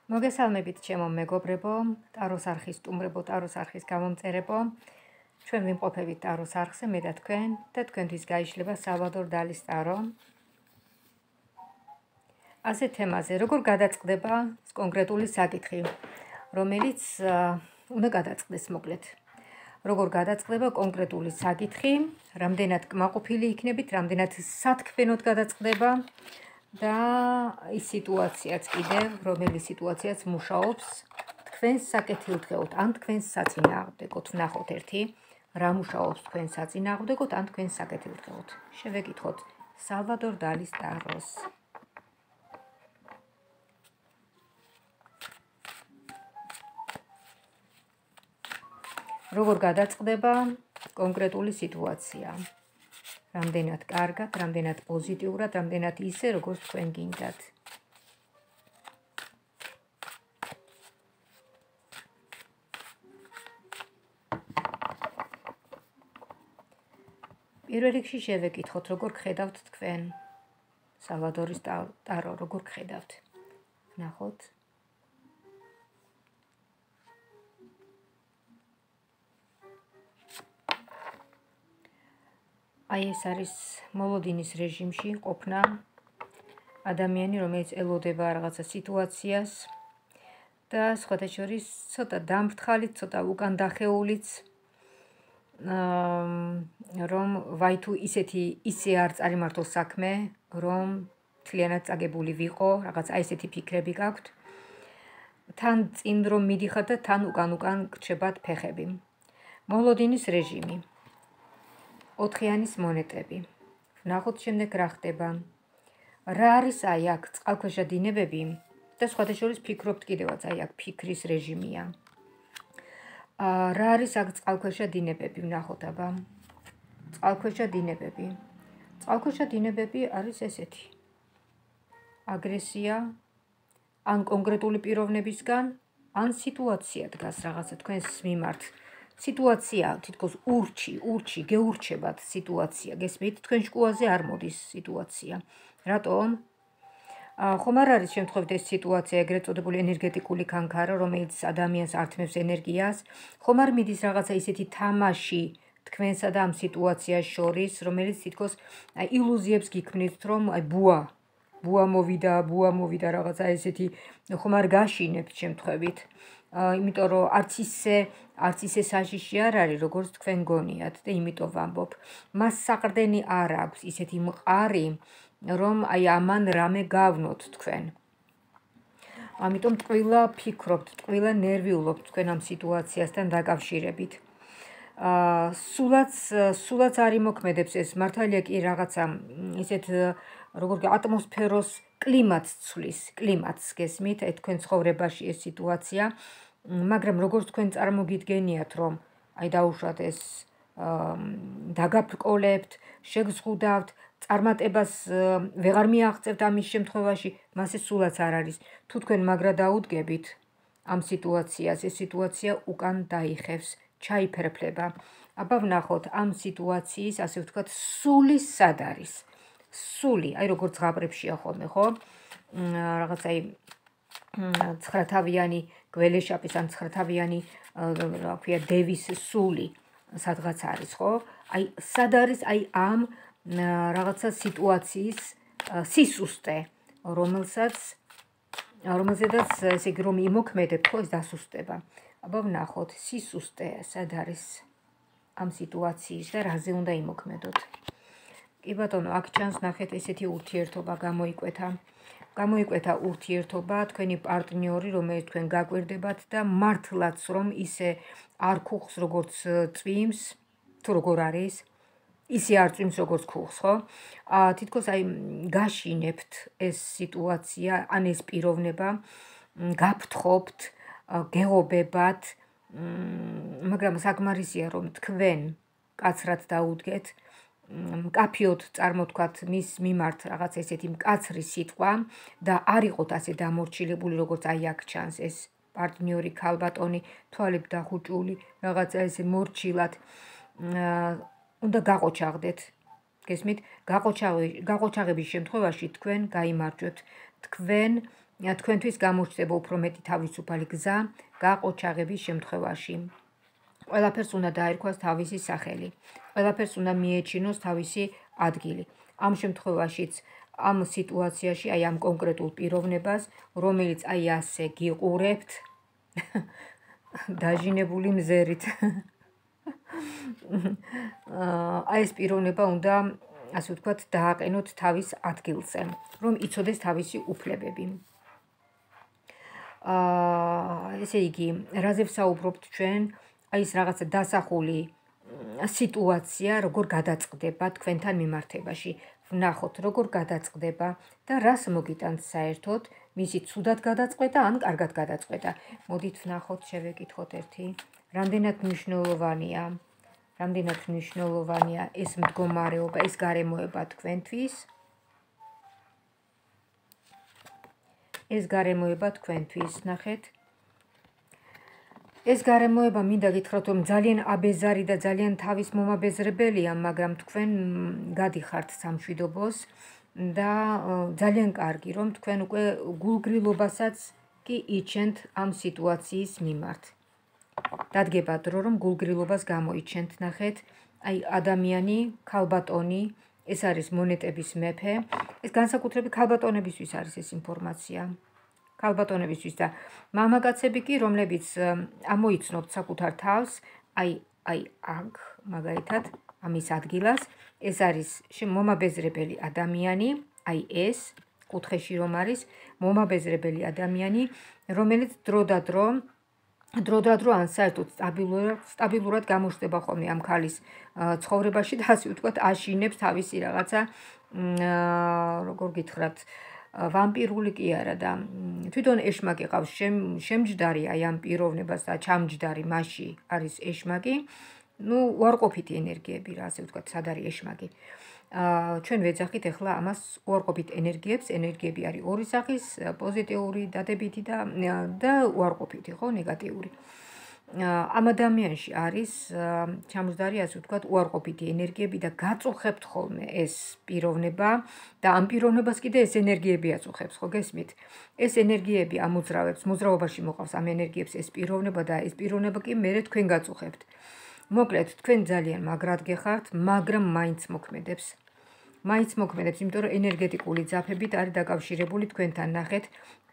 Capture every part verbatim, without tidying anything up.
მოგესალმებით ჩემო მეგობრებო, ტაროს არხის სტუმრებო, ტაროს არხის გამომწერებო. ჩვენ ვიმყოფებით ტაროს არხზე, მე და თქვენ და თქვენთვის გაიშლება სალვადორ დალის ტარო. ასე თემაზე, როგორ გადაწყდება კონკრეტული საკითხი, რომელიც უნდა გადაწყდეს მოკლედ. როგორ გადაწყდება კონკრეტული საკითხი, რამდენად კმაყოფილი იქნებით, რამდენად სათქმენოდ გადაწყდება და ის სიტუაციაც კიდევ, რომელი სიტუაციაც მუშაობს თქვენს საკეთილდღეოდ, ან თქვენს საწინააღმდეგოდ. ვნახოთ ერთი, რა მუშაობს თქვენს საწინააღმდეგოდ, ან თქვენს საკეთილდღეოდ. შევეკითხოთ სალვადორ დალის ტაროს. როგორ გადაწყდება კონკრეტული სიტუაცია. რამდენად კარგად, რამდენად პოზიტიურად, რამდენად ისე, როგორც თქვენ გინდათ. პირველ რიგში შევეკითხოთ, როგორ გხედავთ თქვენ სალვადორის ტარო, როგორ გხედავთ. ნახოთ. აი ეს არის მოლოდინის რეჟიმში ყოფნა ადამიანი, რომელიც ელოდება რაღაცა სიტუაციას და სხვათა შორის ცოტა დამფრთხალით, ცოტა უკან დახეულიც, რომ ვაი თუ ისეთი ისე არ წარიმართოს საქმე, რომ მთლიანად წაგებული ვიყო, რაღაც აი ესეთი ფიქრები გაქვთ. თან წინ რომ მიდიხარ და თან უკან უკან გრჩებათ ფეხები. მოლოდინის რეჟიმი. ოთხიანის მონეტები. ვნახოთ შემდეგ რა ხდება. რა არის აი აქ წყალქვეშა დინებები და სხვათა შორის ფიქრობთ კიდევაც აი აქ ფიქრის რეჟიმია. რა არის აქ წყალქვეშა დინებები, ვნახოთ აბა. წყალქვეშა დინებები. წყალქვეშა დინებები არის ესეთი. აგრესია, ან კონკრეტული პიროვნებისგან, ან სიტუაცია დგას რაღაცა თქვენს მიმართ. სიტუაცია თითქოს ურჩი, ურჩი, გეურჩებათ სიტუაცია, გესმით, თქვენ შკუაზე არ მოდის სიტუაცია. რატომ? ხომ არ არის შემთხვევით ეს სიტუაცია, ეგრეთ წოდებული ენერგეტიკული კანკარა, რომელიც ადამიანს ართმევს ენერგიას, ხომ არ მიდის რაღაცა ისეთი თამაში თქვენსა და ამ სიტუაციას შორის, რომელიც თითქოს ილუზიებს გიქმნით, რომ აი ბუა, ბუა მოვიდა, ბუა მოვიდა რაღაცა ესეთი, ხომ არ გაშინებთ შემთხვევით. იმიტომ რომ არც ისე არც ისე საშიში არ არის, როგორც თქვენ გონიათ და იმიტომ ვამბობ. მას საყრდენი არ აქვს ისეთი მყარი, რომ აი ამან რამე გავნოთ თქვენ. ამიტომ ტყვილა ფიქრობთ, ტყვილა ნერვიულობთ თქვენ ამ სიტუაციასთან დაკავშირებით. სულაც სულაც არ იმოქმედებს ეს, მართალია კი რაღაცა ისეთ როგორ ატმოსფეროს კლიმატს ცვლის, კლიმატს გესმით, აი თქვენ ცხოვრებაში ეს სიტუაცია, მაგრამ როგორც თქვენ წარმოგიდგენიათ, რომ აი დაუშვათ ეს დაგაბრკოლებთ, შეგზღუდავთ, წარმატებას ვეღარ მიაღწევთ ამის შემთხვევაში, მას ეს სულაც არ არის. თუ თქვენ მაგრა დაუდგებით ამ სიტუაციას, ეს სიტუაცია უკან დაიხევს, ჩაიფერფლება. აბა ვნახოთ ამ სიტუაციის, ასე ვთქვათ, სული სად არის. სული, აი როგორც ზღაპრებშია ხოლმე, ხო? რაღაც აი ცხრათავიანი გველეშაპის ან ცხრათავიანი, რა ქვია, დევის სული სადღაც არის, ხო? აი სად არის აი ამ რაღაცა სიტუაციის სისუსტე, რომელსაც რომელზედაც ესე იგი რომ იმოქმედებ, ხო, ეს დასუსტება. აბა ვნახოთ, სისუსტე სად არის ამ სიტუაციის და რაზე უნდა იმოქმედოთ. კი ბატონო, აქ ჩანს ნახეთ ესეთი ურთიერთობა გამოიკვეთა. გამოიკვეთა ურთიერთობა, თქვენი პარტნიორი, რომელიც თქვენ გაკვირდებათ და მართლაც რომ ისე არ ქუხს როგორც წვიმს, თუ როგორ არის, ისე არ წვიმს როგორც ქუხს, ხო? თითქოს აი გაშინებთ ეს სიტუაცია, ან ეს პიროვნება, გაფრთხობთ, გეღობებათ, მაგრამ საკმარისია რომ თქვენ კაცრად დაუდგეთ, მკაფიოდ წარმოთქვათ მის მიმართ რაღაც ესეთი მკაცრი სიტყვა და არ იყოთ ასე დამორჩილებული, როგორც აი აქ ჩანს ეს პარტნიორი ქალბატონი, თვალები დახუჭული, რაღაცა ესე მორჩილად, უნდა გაყოჩაღდეთ. გესმით, გაყოჩაღების შემთხვევაში თქვენ გაიმარჯვებთ. თქვენ თქვენთვის გამოჩნდება უფრო მეტი თავისუფალი გზა გაყოჩაღების შემთხვევაში. ყველაფერს უნდა დაერქვას თავისი სახელი. ყველაფერს უნდა მიეჩინოს თავისი ადგილი. ამ შემთხვევაშიც ამ სიტუაციაში, აი ამ კონკრეტულ პიროვნებას, რომელიც აი ასე გიყურებთ, დაჟინებული მზერით. აი ეს პიროვნება უნდა, ასე ვთქვათ, დააყენოთ თავის ადგილზე, რომ იცოდეს თავისი უფლებები. აა ესე იგი, რაზე ვსაუბრობთ ჩვენ? აი ეს რაღაცა დასახული სიტუაცია, როგორ გადაწყდება თქვენთან მიმართებაში. ვნახოთ, როგორ გადაწყდება და რას მოგიტანთ საერთოდ, მისი ცუდად გადაწყვეტა ან კარგად გადაწყვეტა. მოდით ვნახოთ, შევეკითხოთ ერთი. რამდენად მნიშვნელოვანია, რამდენად მნიშვნელოვანია ეს მდგომარეობა, ეს გარემოება თქვენთვის. ეს გარემოება თქვენთვის, ნახეთ. ეს გარემოება მინდა გითხრათ, რომ ძალიან აბეზარი და ძალიან თავის მომაბეზრებელია, მაგრამ თქვენ გადიხართ სამშვიდობოს და ძალიან კარგი, რომ თქვენ უკვე გულგრილობასაც კი იჩენთ ამ სიტუაციის მიმართ. დადგება დრო, რომ გულგრილობას გამოიჩენთ, ნახეთ, აი ადამიანი, ქალბატონი, ეს არის მონეტების მეფე, ეს განსაკუთრებით ქალბატონებისთვის არის ეს ინფორმაცია. ქალბატონებისთვის და მამაკაცები კი, რომლებიც ამოიცნობთ საკუთარ თავს, აი აი აქ, მაგალითად, ამის ადგილას, ეს არის მომაბეზრებელი ადამიანი, აი ეს, კუთხეში რომ არის, მომაბეზრებელი ადამიანი, რომელიც დრო და დრო, დრო და დრო ან საერთოდ სტაბილურად, სტაბილურად გამოჩნდება ხოლმე ამ ქალის ცხოვრებაში და ასე ვთქვათ, აშინებს თავისი რაღაცა, როგორ გითხრათ, ვამპირული კი არა და თვითონ ეშმაკი ყავს შემჯდარი აი ამ პიროვნებას და ჩამჯდარი მასში არის ეშმაკი. ნუ უარყოფითი ენერგიები რა, ასე ვთქვათ, სად არის ეშმაკი. ჩვენ ვეძახით ახლა ამას უარყოფით ენერგიებს, ენერგიები არის ორი სახის, პოზიტიური, დადებითი და და უარყოფითი, ხო, ნეგატიური. ამ ადამიანში არის ჩამჯდარი, ასე ვთქვათ, უარყოფითი ენერგიები და გაწუხებთ ხოლმე ეს პიროვნება და ამ პიროვნებას კიდე ეს ენერგიები აწუხებს, ხო, გესმით? ეს ენერგიები ამოძრავებს, მოძრაობაში მოყავს ამ ენერგიებს ეს პიროვნება და ეს პიროვნება კი მერე თქვენ გაწუხებთ. მოკლედ, თქვენ ძალიან მაგრად გეხართ, მაგრამ მაინც მოქმედებს. მაინც მოქმედებს, იმიტომ რომ ენერგეტიკული ძაფებით არის დაკავშირებული თქვენთან, ნახეთ.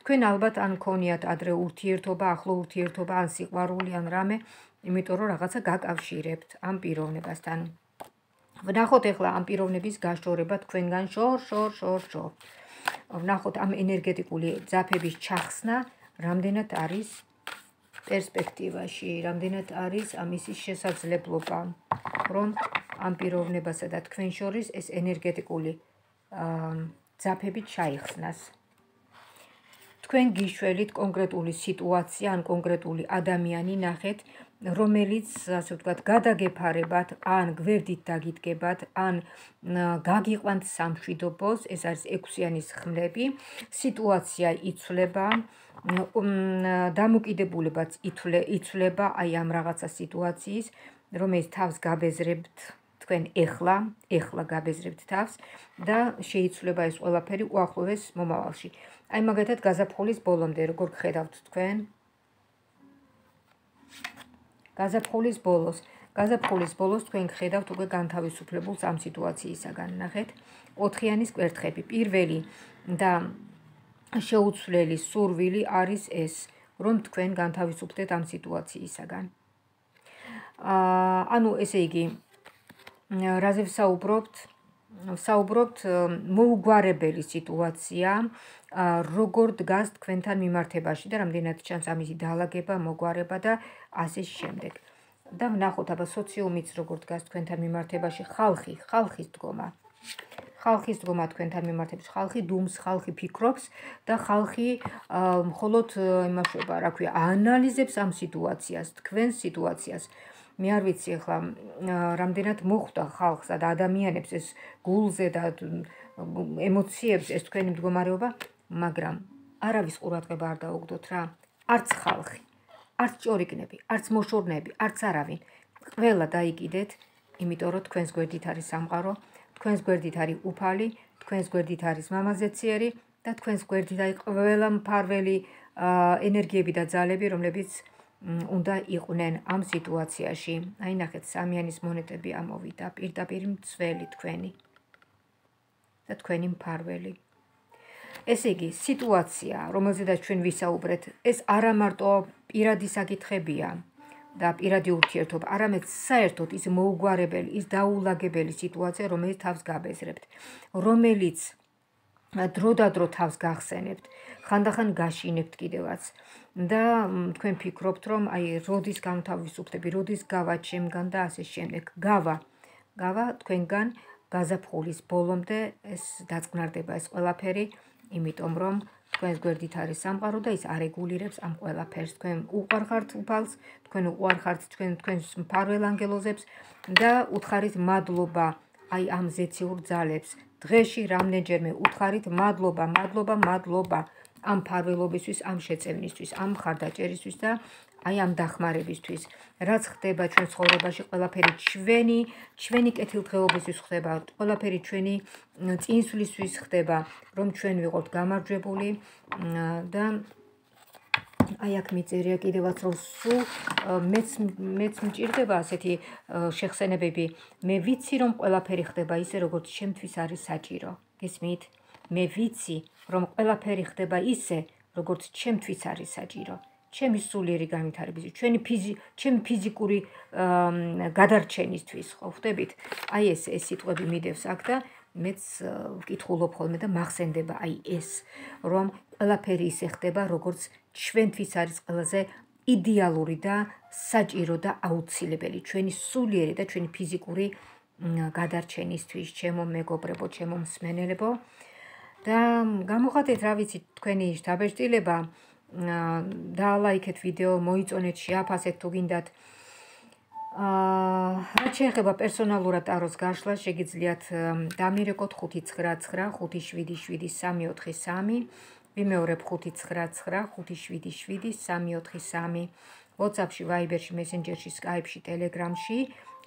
თქვენ ალბათ ან ქონიათ ადრე ურთიერთობა, ახლო ურთიერთობა, ან სიყვარული, ან რამე, იმიტომ რომ რაღაცა გაკავშირებთ ამ პიროვნებასთან. ვნახოთ ახლა ამ პიროვნების გაშორება თქვენგან შორ, შორ, შორ, შორ. ვნახოთ ამ ენერგეტიკული ძაფების ჩახსნა, რამდენად არის პერსპექტივაში, რამდენად არის ამისის შესაძლებლობა, რომ ამ პიროვნებასა და თქვენ შორის ეს ენერგეტიკული ძაფები ჩაიხსნას. თქვენ გიშველით კონკრეტული სიტუაცია ან კონკრეტული ადამიანი ნახეთ, რომელიც, ასე ვთქვათ, გადაგეფარებათ, ან გვერდით დაგიდგებათ, ან გაგიყვანთ სამშვიდობოს, ეს არის ექვსიანის ხმლები, სიტუაცია იცვლება, დამოკიდებულებაც იცვლება აი ამ რაღაცა სიტუაციის, რომელიც თავს გაბეზრებთ თქვენ ეხლა, ეხლა გაბეზრებთ თავს და შეიცვლება ეს ყველაფერი უახლოეს მომავალში. აი მაგალითად გაზაფხულის ბოლომდე როგორ გხედავთ თქვენ? გაზაფხულის ბოლოს, გაზაფხულის ბოლოს თქვენ გხედავთ უკვე განთავისუფლებულს ამ სიტუაციისაგან, ნახეთ, ოთხიანის კვერთხები. პირველი და შეუცვლელი სურვილი არის ეს, რომ თქვენ განთავისუფლდეთ ამ სიტუაციისაგან. ანუ ესე იგი, რაზე ვსაუბრობთ? ვსაუბრობთ მოუგვარებელი სიტუაცია, როგორ დგას თქვენთან მიმართებაში და რამდენად ჩანს ამისი დაალაგება, მოგვარება და ასე შემდეგ. და ვნახოთ აბა სოციუმიც როგორ დგას თქვენთან მიმართებაში, ხალხი, ხალხის დგომა. ხალხის დგომა თქვენთან მიმართებაში, ხალხი დუმს, ხალხი ფიქრობს და ხალხი მხოლოდ იმაშობა, რა ქვია, აანალიზებს ამ სიტუაციას, თქვენს სიტუაციას. მე არ ვიცი ახლა რამდენად მოხვდა ხალხსა და ადამიანებს ეს გულზე და ემოციებს ეს თქვენი მდგომარეობა, მაგრამ არავის ყურადღება არ დაუგდოთ რა. არც ხალხი, არც ჭორიკნები, არც მოშორნეები, არც არავინ. ყველა დაიკიდეთ, იმიტომ რომ თქვენს გვერდით არის სამყარო, თქვენს გვერდით არის უფალი, თქვენს გვერდით არის მამაზეციერი, და თქვენს გვერდით აი ყველა მფარველი ენერგიები და ძალები, რომლებიც უნდა იყვნენ ამ სიტუაციაში. აი ნახეთ, სამიანის მონეტები ამოვიდა, პირდაპირ მცველი თქვენი და თქვენი მფარველი. ესე იგი, სიტუაცია, რომელზედაც ჩვენ ვისაუბრეთ, ეს არა მარტო პირადი საკითხებია და პირადი ურთიერთობა, არამედ საერთოდ ის მოუგვარებელი, ის დაულაგებელი სიტუაცია, რომელიც თავს გაბეზრებთ, რომელიც დრო-და-დრო თავს გახსენებთ, ხანდახან გაშინებთ კიდევაც და თქვენ ფიქრობთ, რომ აი როდის გამთავისუფლდები, როდის გავა ჩემგან და ასე შემდეგ. გავა, გავა თქვენგან გაზაფხულის ბოლომდე ეს დაწყნარდება ეს ყველაფერი, იმიტომ რომ თქვენს გვერდით არის სამყარო და ის არეგულირებს ამ ყველაფერს. თქვენ უყვარხართ უფალს, თქვენ უყვარხართ თქვენ თქვენს მფარველ ანგელოზებს და უთხარით მადლობა აი ამ ზეციურ ძალებს. დღეში რამდენჯერმე უთხარით მადლობა, მადლობა, მადლობა ამ მფარველობისთვის, ამ შეწევნისთვის, ამ მხარდაჭერისთვის და აი ამ დახმარებისთვის. რაც ხდება ჩვენ ცხოვრებაში, ყველაფერი ჩვენი, ჩვენი კეთილდღეობისთვის ხდება, ყველაფერი ჩვენი წინსვლისთვის ხდება, რომ ჩვენ ვიყოთ გამარჯვებული და აი აქ მიწერია კიდევაც, რომ სულ მეც მეც მჭირდება ასეთი შეხსენებები. მე ვიცი, რომ ყველაფერი ხდება ისე, როგორც ჩემთვის არის საჭირო. გესმით? მე ვიცი, რომ ყველაფერი ხდება ისე, როგორც ჩემთვის არის საჭირო. ჩემი სულიერი განვითარების, ჩვენი ფიზი, ჩემი ფიზიკური გადარჩენისთვის, ხო ხვდებით? აი ეს ეს სიტყვები მიდევს აქ და მეც ვკითხულობ ხოლმე და მახსენდება აი ეს, რომ ყველაფერი ისე ხდება, როგორც ჩვენთვის არის ყველაზე იდეალური და საჭირო და აუცილებელი ჩვენი სულიერი და ჩვენი ფიზიკური გადარჩენისთვის, ჩემო მეგობრებო, ჩემო მსმენელებო და გამოხატეთ, რა ვიცი, თქვენი დაბეჭდილება, დაალაიქეთ ვიდეო, მოიწონეთ, შეაფასეთ თუ გინდათ. რაც შეეხება პერსონალურად ტაროს გაშლა, შეგიძლიათ დამირეკოთ ხუთი ცხრა ცხრა ხუთი შვიდი შვიდი სამი ოთხი სამი, ვიმეორებ ხუთი ცხრა ცხრა ხუთი შვიდი შვიდი სამი ოთხი სამი, WhatsApp-ში, Viber-ში, Messenger-ში, Skype-ში, Telegram-ში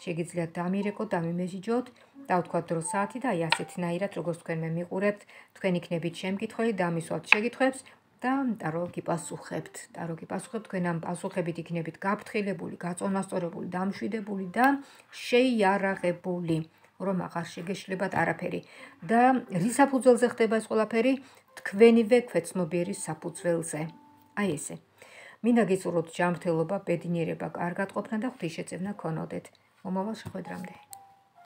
შეგიძლიათ დამირეკოთ, დამიმესიჯოთ, დავთქვათ დრო საათი და აი ასეთნაირად, როგორც თქვენ მე მიყურებთ, თქვენ იქნებით შემკითხველი, დამისვათ შეკითხვებს და ტარო გიპასუხებთ. ტარო გიპასუხებთ, თქვენ ამ პასუხებით იქნებით გაფრთხილებული, გაწონასწორებული, დამშვიდებული და შეიარაღებული, რომ აღარ შეგეშლებათ არაფერი. და რის საფუძველზე ხდება ეს ყველაფერი? თქვენივე ქვეცნობიერი საფუძველზე. აი ესე. მინდა გისურვოთ ჯანმრთელობა, ბედნიერება, კარგად ყოფნა და ღვთისშეწევნა გქონოდეთ. მომავალ შეხვედრამდე.